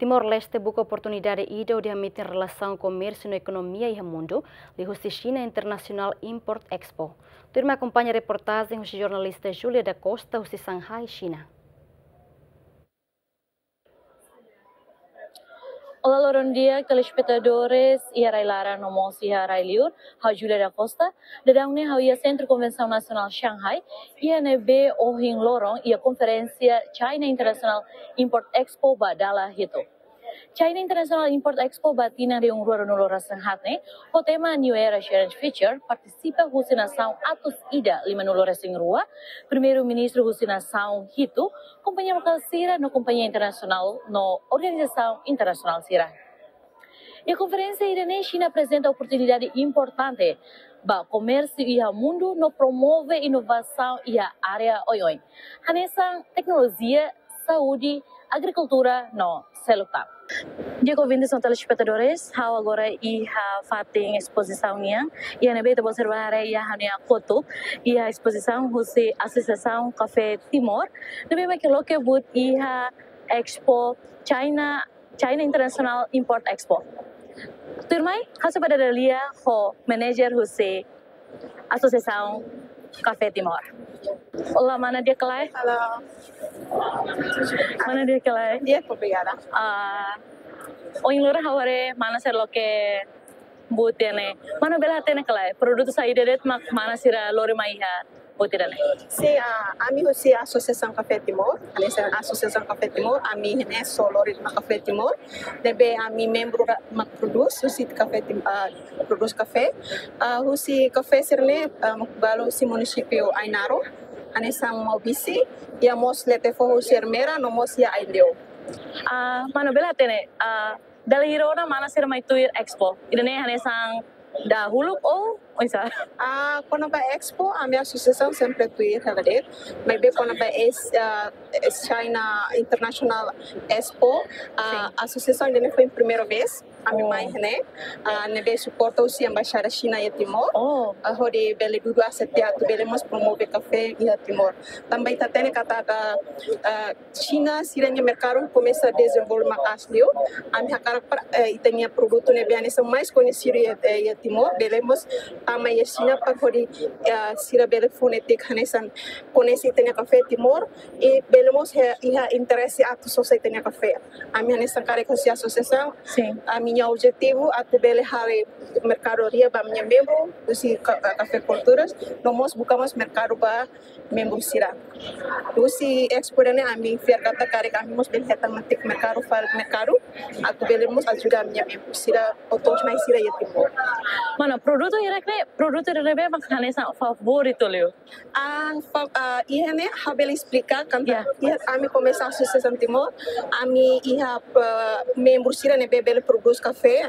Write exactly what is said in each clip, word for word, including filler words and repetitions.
Timor-Leste buka oportunidade ida hodi hametin relasaun komérsiu no ekonomia iha mundu, liuhusi Xina International Import Expo. Tuirmai akompaña reportajen husi jornalista Julia da Costa husi Shanghai, Xina. Olá, loron di'ak, telespetadores iha rai-laran no mós iha rai-li'ur. Ha'u Julia da Costa, daudaun ne'e ha'u iha Sentru Konvensaun Nasionál Shanghai, iha ne'ebé ohin loron iha konferénsia China International Import Expo ba dala hitu. China International Import Expo ba tinan rihun rua ruanulu-resin-haat ne'e, ho tema New Era Shared Future, partisipa husi nasaun atus ida limanulu-resin-rua, Primeiru-Ministru husi nasaun hitu, kompañia lokál sira no kompañia internasionál no organizasaun internasionál sira. Iha konferénsia ida-ne'e Xina aprezenta oportunidade importante ba komérsiu iha mundu no promove inovasaun iha área oioin, hanesan teknolojia, saúde, agrikultura no seluk tan. Di'ak, ouvintes no telespetadores, ha'u agora iha fatin espozisaun nian, iha ne'ebé ita-boot sira bá haree iha ha'u-nia kotuk, iha espozisaun husi Asosiasaun Kafé Timor, ne'ebé mak loke buat iha Expo China, China International Import Expo. Tuirmai, ha'u sei bá dada lia ho manager husi Asosiasaun Kafé Timor. Olá, mana, di'ak ka lae? Halo. Mana, di'ak ka lae? Di'ak, obrigada. Ah, ohin loron ha'u haree mana sira loke buat ida-ne'e. Mana bele hatene ka lae produtu saida de'it mak mana sira lori mai iha buat ida-ne'e? Sin, ah, ami husi Asosiasaun Kafé Timor, hanesan Asosiasaun Kafé Timor, ami ne'e só lori mai kafé Timor, ne'ebé ami membru mak prodús, husi kafé Tim-, ah, prodús kafé. Ah, husi kafé sira-ne'e, ah, mak balu husi munisípiu Ainaro, hanesan Maubisse, iha mós Letefo husi Ermera, no mós iha Aileu. Ah, mana bele hatene, ah, dala hira ona mana sira mai tuir Expo ida-ne'e, hanesan dahuluk ou oinsá? Ah, kona-ba Expo, ami asosiasaun sempre tuir hela de'it. Maibé kona-ba es, ah, es China International Expo, ah, asosiasaun ida-ne'e foin primeira vez ami mai ne'e, ah, ne'ebé suporta husi Embaixada Xina iha Timor. Oh. Ah, hodi bele dudu asetia atu bele mós promove kafé iha Timor. Tanba ita hatene katak, ah, Xina sira-nia merkadu komesa dezenvolve maka'as liu. Ami hakarak para, eh, ita-nia produtu ne'ebé hanesan mais koñesidu iha, eh, iha Timor, bele mós tama iha Xina para hodi, eh, sira bele fó netik hanesan koñese ita-nia kafé Timor, i bele mós he-, iha interese atu sosa ita-nia kafé. Ami hanesan karik husi asosiasaun, sin, ami-nia objetivu atu bele halo merkadoria ba ami-nia membru, husi ka-, kafé kulturas, no mós buka mós merkadu ba membru sira. Husi Expo ida-ne'e ami fiar katak karik ami mós bele hetan netik merkadu, fali merkadu, atu bele mós ajuda ami-nia membru sira, otos mai sira iha Timor. Mana, produtu hirak ne'e, produtu hirak ne'ebé mak hanesan favoritu liu? Ah, fa-, ah, iha ne'e ha'u bele esplika, katak, ya, iha ami komesa Asosiasaun Timor, ami iha, ah, membru sira ne'ebé bele prodús kafé,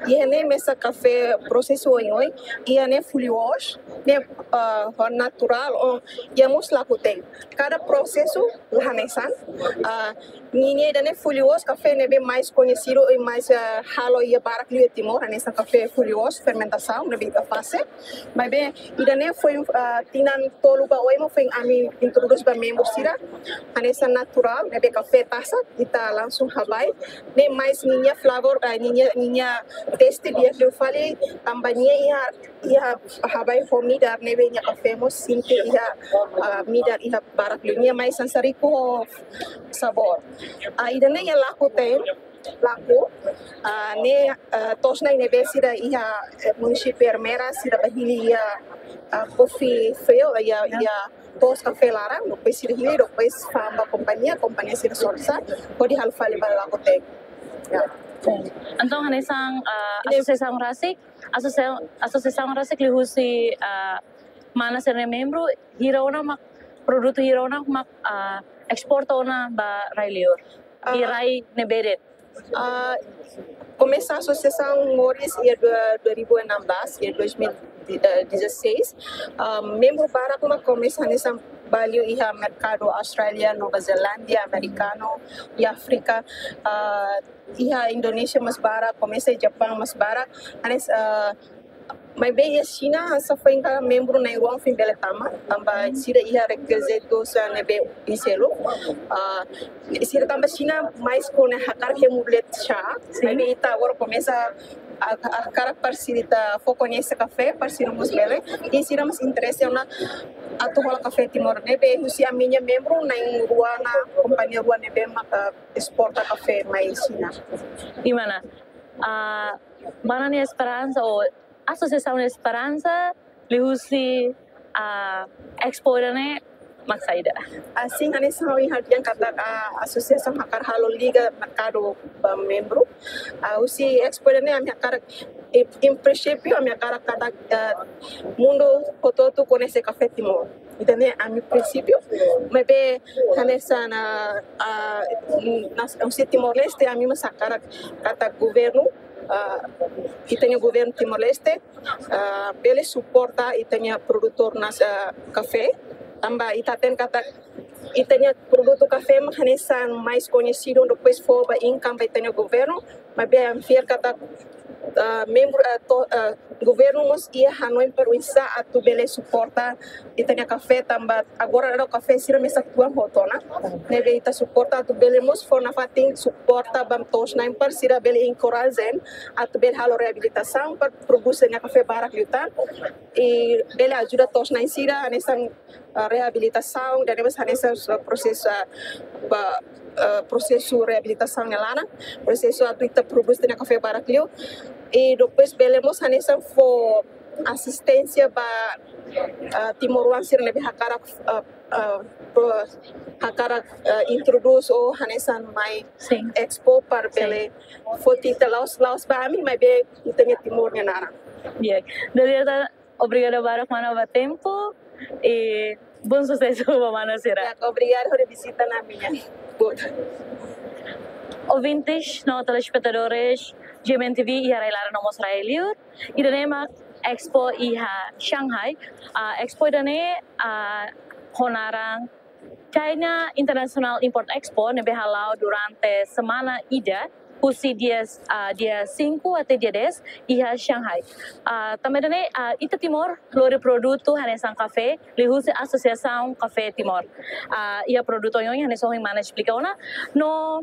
iha ne'e mesak kafé prosesu oioin, iha ne'e fully wash, ne'e, ah, naturál, ou, iha mós lakuten. Kada prosesu la hanesan, ah, ninia ida-ne'e fully wash, kafé ne'ebé mais koñesidu i mais, ah, halo iha barak liu iha Timor, hanesan kafé fully wash, fermentasaun, ne'ebé ita fase. Maibé, ida-ne'e foin, ah, tinan tolu ba oin mak foin ami introdús ba membru sira, hanesan naturál, ne'ebé kafé tasak, ita langsung habai. Ne'e mais ninia flavor, ah, ninia, ninia teste di'ak liu fali, tanba nia iha, iha habai ho midar ne'ebé nia kafé mós sente iha, ah, midar iha barak liu. Nia mais hanesan riku ho sabór. Ah, ida-ne'e iha lakuten, laku, ah, ne'e, ah, to'os na'in ne'ebé sira iha, eh, munisípiu Ermera, sira bá hili iha, ah, coffee field, iha, iha to'os kafé laran, depois sira hili, depois fa'an ba kompañia, kompañia sira sosa, hodi halo fali ba lakuten. Ya. Entaun, hanesan, ah, ne'e asosiasaun rasik, asosiasaun, asosiasaun rasik liuhusi, ah, mana sira-nia membru, hira ona mak, produtu hira ona mak, ah, esporta ona ba rai-liur? I, ah, rai ne'ebé de'it? Ah, komesa asosiasaun moris iha dua, dua ribu enam belas, iha dois mil e dezasseis. Ah, membru barak mak komesa hanesan balu iha merkadu Austrália, Nova Zelándia, Amerikanu, iha Áfrika, ah, iha Indonézia mós barak, komesa iha Japaun mós barak. Hanes, ah, Maibé iha Xina hanesan foin ka membru na'in-rua foin bele tama, tanba sira iha rekizitu sira ne'ebé seluk. Ah, sira tanba Xina mais kona hakarak hemu buat chá. Sin. Maibé ita agora komesa a, a, hakarak para sira ita fó koñese kafé, para sira mós bele. I sira mós interese ona atu hola kafé Timor ne'ebé husi ami-nia membru na'in-rua ona kompañia rua ne'ebé maka esporta kafé mai Xina. I mana, ah, mana nia esperansa ou asosiasaun nia esperansa liuhusi, ah, Expo ida-ne'e mak saida? Ah, sin, hanesan ohin ha'u dehan katak, ah, asosiasaun hakarak halo liga merkadu ba membru. Ah, husi Expo ida-ne'e ami hakarak, em, em princípio, ami hakarak katak, ah, mundu hotu-hotu koñese kafé Timor. Ida-ne'e ami prinsípiu, maibé hanesan, ah, ah, nas, husi Timor-Leste, ami mós hakarak katak governu, ah, ita-nia governu Timor-Leste, ah, bele suporta ita-nia produtór na'in, ah, kafé, tanba ita hatene katak ita-nia produtu kafé mak hanesan mais koñesidu, depois fó ba income ba ita-nia governu, maibé ami fiar katak, ah, membru, ah, to-, ah, governu mós iha hanoin para oinsá atu bele suporta ita-nia kafé, tanba agora daudaun kafé sira mesak tuan hotu ona. Ne'ebé ita suporta atu bele mós fó nafatin suporta ba to'os-na'in para sira bele encourage atu bele halo reabilitasaun para produsaun nia kafé barak liután. I bele ajuda to'os-na'in sira hanesan, ah, reabilitasaun, ida-ne'e mós hanesan, ah, prosesu, ah, ba, ah, prosesu reabilitasaun nia laran, prosesu atu ita produz ita-nia kafé barak liu. I depois bele mós hanesan fó asisténsia ba, ah, timoroan sira ne'ebé hakarak, ah, ah, pro-, hakarak, ah, introdús ou hanesan mai Sin. Expo para Sin. Bele foti ita la'ós, la'ós ba ami, maibé ita-nia Timor nia naran. Di'ak. Dalieta, obrigada barak mana ba tempu i bom susesu ba mana sira. Di'ak, obrigada hodi vizita ami-nia. Boa. Ouvintes no telespetadores G M N T V iha rai-laran no mós rai-liur, ida-ne'e mak Expo iha Shanghai. Ah, Expo ida-ne'e, ah, ho naran China International Import Expo ne'ebé hala'o durante semana ida, husi dia, ah, dia cinco até dia dez, iha Shanghai. Ah, tanba ida-ne'e, ah, ita Timor lori produtu hanesan kafé, liuhusi Asosiasaun Kafé Timor. Ah, iha produtu oioin hanesan ohin mana esplika ona. No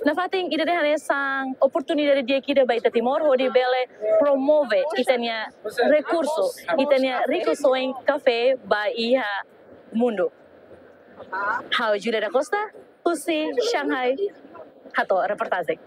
nafatin ida-ne'e hanesan oportunidade di'ak ida ba ita Timor, hodi bele promove ita-nia rekursu, ita-nia rikusoin kafé ba iha mundu. Ha'u Julia da Costa, husi Shanghai, hato'o reportajen.